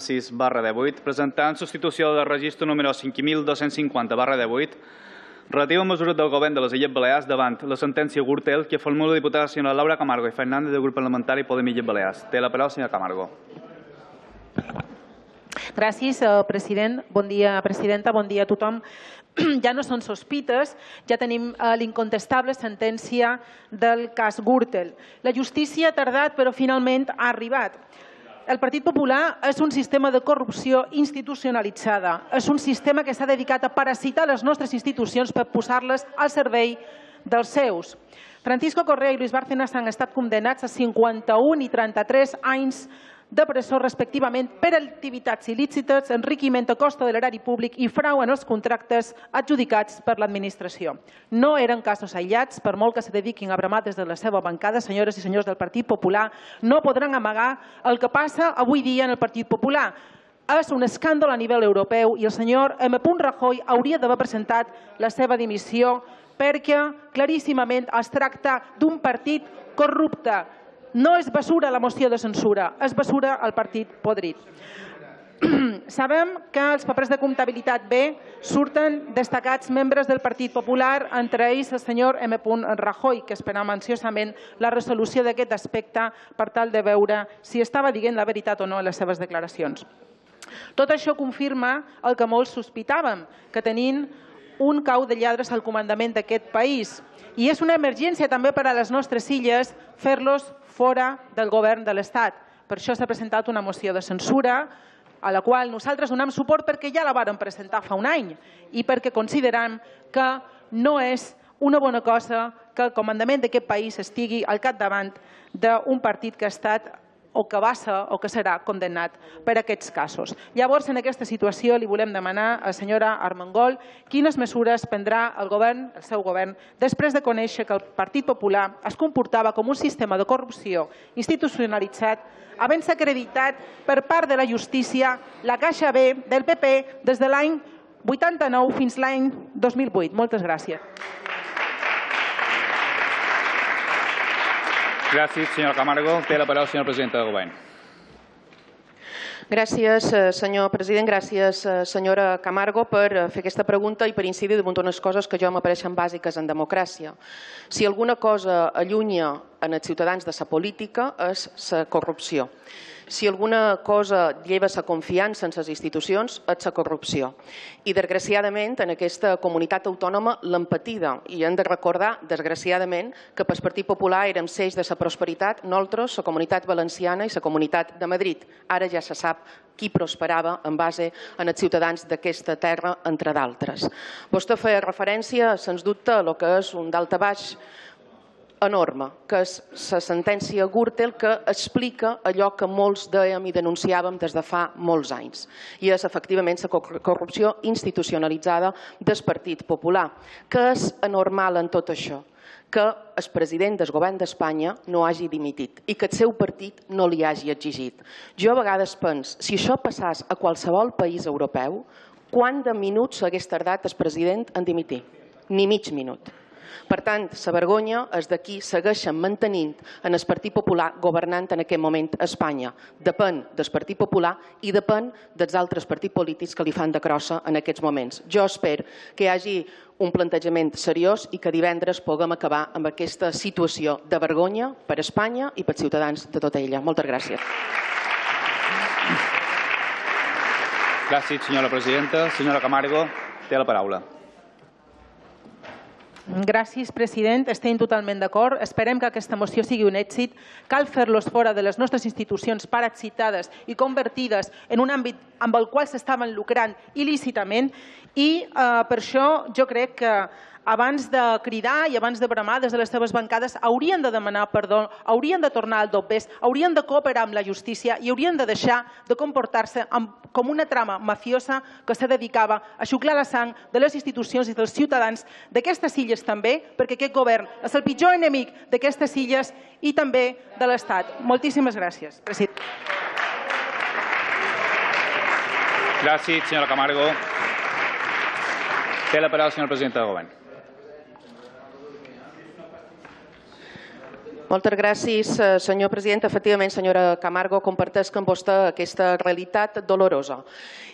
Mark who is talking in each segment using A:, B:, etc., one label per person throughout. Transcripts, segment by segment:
A: 6/18, presentar en substitució del registre número 5250/18, relatiu a mesures del Govern de les Illes Balears davant la sentència Gürtel que formula la diputada senyora Laura Camargo i Fernández del grup parlamentari Podem Illes Balears. Té la paraula, senyora Camargo.
B: Gràcies, president. Bon dia, presidenta. Bon dia a tothom. Ja no són sospites, ja tenim l'incontestable sentència del cas Gürtel. La justícia ha tardat, però finalment ha arribat. El Partit Popular és un sistema de corrupció institucionalitzada. És un sistema que s'ha dedicat a parasitar les nostres institucions per posar-les al servei dels seus. Francisco Correa i Luis Bárcenas han estat condemnats a 51 i 33 anys de presó respectivament per activitats il·lícites, enriquiment a costa de l'erari públic i frau en els contractes adjudicats per l'administració. No eren casos aïllats, per molt que se dediquin a bramar des de la seva bancada, senyores i senyors del Partit Popular, no podran amagar el que passa avui dia en el Partit Popular. És un escàndol a nivell europeu i el senyor M. Rajoy hauria d'haver presentat la seva dimissió perquè claríssimament es tracta d'un partit corrupte. No és basura la moció de censura, és basura el partit podrit. Sabem que als papers de comptabilitat B surten destacats membres del Partit Popular, entre ells el senyor M. Rajoy, que esperam ansiosament la resolució d'aquest aspecte per tal de veure si estava dient la veritat o no en les seves declaracions. Tot això confirma el que molts sospitàvem, que tenint un cau de lladres al comandament d'aquest país. I és una emergència també per a les nostres illes fer-los fora del govern de l'Estat. Per això s'ha presentat una moció de censura a la qual nosaltres donem suport perquè ja la vàrem presentar fa un any i perquè considerem que no és una bona cosa que el comandament d'aquest país estigui al capdavant d'un partit que ha estat o que va ser o que serà condemnat per aquests casos. Llavors, en aquesta situació, li volem demanar a la senyora Armengol quines mesures prendrà el govern, el seu govern, després de conèixer que el Partit Popular es comportava com un sistema de corrupció institucionalitzat, havent-se acreditat per part de la justícia la Caixa B del PP des de l'any 89 fins l'any 2008. Moltes gràcies.
A: Gràcies, senyora Camargo. Té la paraula, senyora presidenta del Govern.
C: Gràcies, senyor president. Gràcies, senyora Camargo, per fer aquesta pregunta i per incidir damunt unes coses que jo m'apareixen bàsiques en democràcia. Si alguna cosa allunya en els ciutadans de la política és la corrupció. Si alguna cosa lleva la confiança en les institucions és la corrupció. I, desgraciadament, en aquesta comunitat autònoma l'hem patida. I hem de recordar, desgraciadament, que pel Partit Popular érem l'eix de la prosperitat, nosaltres, la comunitat valenciana i la comunitat de Madrid. Ara ja se sap qui prosperava en base als ciutadans d'aquesta terra, entre d'altres. Vostè feia referència, sens dubte, a el que és un daltabaix enorme, que és la sentència Gürtel, que explica allò que molts dèiem i denunciàvem des de fa molts anys. I és, efectivament, la corrupció institucionalitzada del Partit Popular. Què és anormal en tot això? Que el president del govern d'Espanya no hagi dimitit i que el seu partit no li hagi exigit. Jo a vegades penso, si això passés a qualsevol país europeu, quant de minuts s'hagués tardat el president en dimitir? Ni mig minut. Per tant, la vergonya és de qui segueixen mantenint en el Partit Popular governant en aquest moment a Espanya. Depèn del Partit Popular i depèn dels altres partits polítics que li fan de crossa en aquests moments. Jo espero que hi hagi un plantejament seriós i que divendres puguem acabar amb aquesta situació de vergonya per a Espanya i pels ciutadans de tota ella. Moltes gràcies.
A: Gràcies, senyora presidenta. Senyora Camargo, té la paraula.
B: Gràcies, president. Estem totalment d'acord. Esperem que aquesta moció sigui un èxit. Cal fer-los fora de les nostres institucions parasitades i convertides en un àmbit amb el qual s'estaven lucrant il·lícitament i per això jo crec que abans de cridar i abans de bramar des de les seves bancades haurien de demanar perdó, haurien de tornar al dobbers, haurien de cooperar amb la justícia i haurien de deixar de comportar-se com una trama mafiosa que se dedicava a xuclar la sang de les institucions i dels ciutadans d'aquestes illes també, perquè aquest govern és el pitjor enemic d'aquestes illes i també de l'Estat. Moltíssimes gràcies, president.
A: Gràcies, senyora Camargo. Té la paraula, senyora presidenta del Govern.
C: Moltes gràcies, senyor president. Efectivament, senyora Camargo, comparteix amb vostè aquesta realitat dolorosa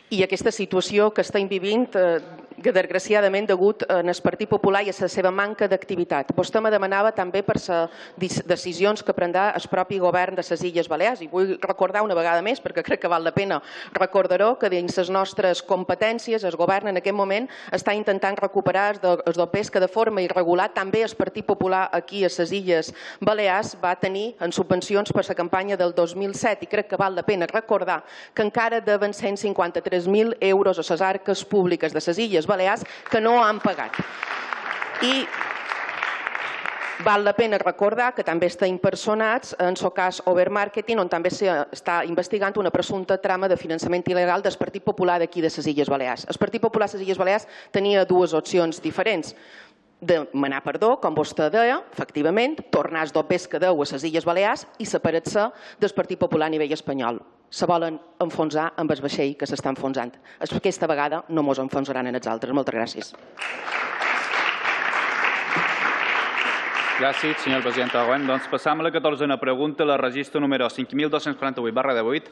C: i aquesta situació que estem vivint, que desgraciadament degut al Partit Popular i a la seva manca d'activitat. Vostè me demanava també per les decisions que prendrà el propi govern de les Illes Balears i vull recordar una vegada més, perquè crec que val la pena recordar-ho, que dins les nostres competències el govern en aquest moment està intentant recuperar els dopers que de forma irregular també el Partit Popular aquí a les Illes Balears va tenir en subvencions per la campanya del 2007 i crec que val la pena recordar que encara deuen 153.000 euros a les arques públiques de les Illes Balears que no han pagat. I val la pena recordar que també està impersonats en el cas Overmarketing, on també s'està investigant una presumpta trama de finançament il·legal del Partit Popular d'aquí de les Illes Balears. El Partit Popular de les Illes Balears tenia dues opcions diferents. Demanar perdó, com vostè deia, efectivament, tornar els dopers que deu a les Illes Balears i separar-se del Partit Popular a nivell espanyol. Se volen enfonsar amb el vaixell que s'està enfonsant. Aquesta vegada no ens enfonsaran en els altres. Moltes gràcies.
A: Gràcies, senyor president Agüent. Doncs passam a la 14a pregunta, la registre número 5248/18.